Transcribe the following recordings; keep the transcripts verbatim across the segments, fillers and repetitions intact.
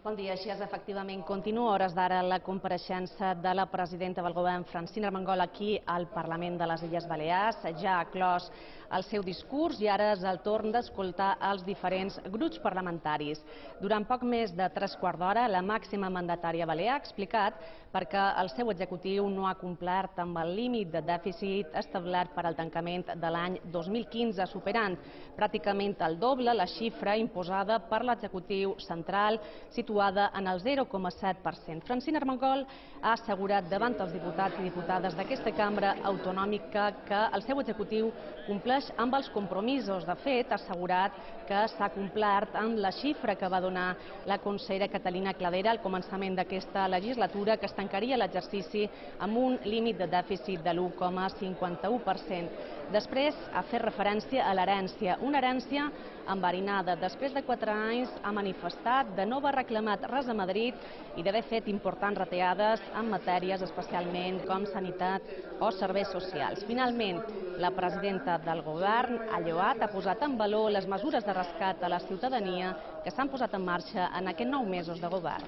Bon dia. Així és, efectivament, continua a hores d'ara la compareixença de la presidenta del govern, Francina Armengol, aquí al Parlament de les Illes Balears. Ja ha clos el seu discurs i ara és el torn d'escoltar els diferents grups parlamentaris. Durant poc més de tres quarts d'hora, la màxima mandatària balear ha explicat perquè el seu executiu no ha complert amb el límit de dèficit establert per al tancament de l'any dos mil quinze, superant pràcticament el doble la xifra imposada per l'executiu central, situada en el zero coma set per cent. Francina Armengol ha assegurat davant els diputats i diputades d'aquesta cambra autonòmica que el seu executiu compleix amb els compromisos. De fet, ha assegurat que s'ha complert amb la xifra que va donar la consellera Catalina Cladera al començament d'aquesta legislatura, que es tancaria l'exercici amb un límit de dèficit de l'u coma cinquanta-u per cent. Després ha fet referència a l'herència, una herència enverinada. Després de quatre anys ha manifestat de no haver reclamat res a Madrid i d'haver fet importants retallades en matèries especialment com sanitat o serveis socials. Finalment, la presidenta del govern ha lloat, ha posat en valor les mesures de rescat a la ciutadania que s'han posat en marxa en aquests nou mesos de govern.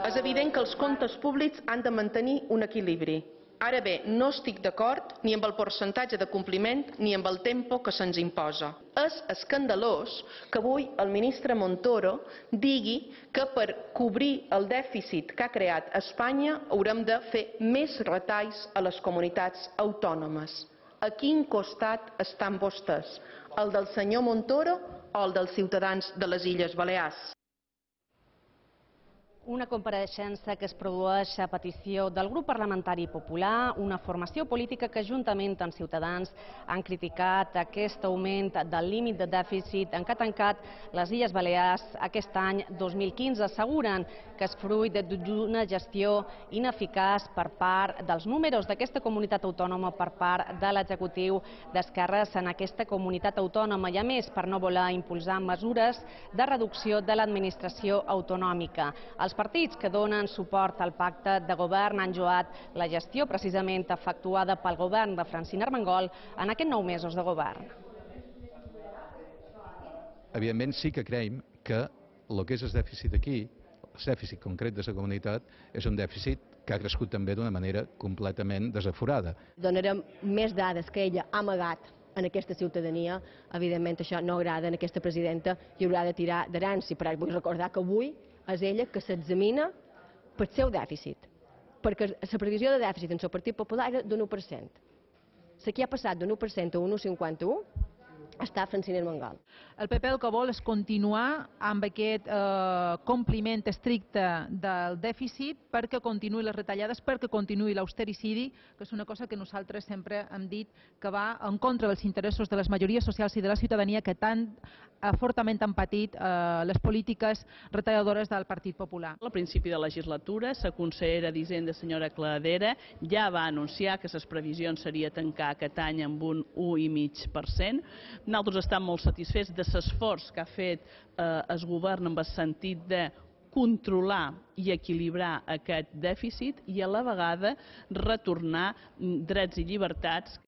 És evident que els comptes públics han de mantenir un equilibri. Ara bé, no estic d'acord ni amb el percentatge de compliment ni amb el tempo que se'ns imposa. És escandalós que avui el ministre Montoro digui que per cobrir el dèficit que ha creat Espanya haurem de fer més retalls a les comunitats autònomes. A quin costat estan vostès? El del senyor Montoro o el dels ciutadans de les Illes Balears? Una compareixença que es produeix a petició del grup parlamentari popular, una formació política que juntament amb Ciutadans han criticat aquest augment del límit de dèficit en què ha tancat les Illes Balears aquest any dos mil quinze. Asseguren que és fruit d'una gestió ineficaç per part dels números d'aquesta comunitat autònoma per part de l'executiu d'esquerres en aquesta comunitat autònoma i, a més, per no voler impulsar mesures de reducció de l'administració autonòmica. Els partits que donen suport al pacte de govern han lloat la gestió precisament efectuada pel govern de Francina Armengol en aquests nou mesos de govern. Evidentment sí que creiem que el que és el dèficit aquí, el dèficit concret de la comunitat, és un dèficit que ha crescut també d'una manera completament desaforada. Donarem més dades que ella ha amagat en aquesta ciutadania. Evidentment això no agrada a aquesta presidenta i haurà de tirar d'herència, però vull recordar que avui és ella que s'examina pel seu dèficit, perquè la previsió de dèficit en el Partit Popular era d'un u per cent. La que ha passat d'un u per cent a un u coma cinquanta-u està Francina Armengol. El P P el que vol és continuar amb aquest eh, compliment estricte del dèficit perquè continuï les retallades, perquè continuï l'austericidi, que és una cosa que nosaltres sempre hem dit que va en contra dels interessos de les majories socials i de la ciutadania que tan eh, fortament han patit eh, les polítiques retalladores del Partit Popular. Al principi de legislatura, la consellera d'Hisenda, senyora Cladera, ja va anunciar que les previsions seria tancar aquest any amb un u coma cinc per cent. Nosaltres estem molt satisfets de l'esforç que ha fet eh, el govern en el sentit de controlar i equilibrar aquest dèficit i a la vegada retornar drets i llibertats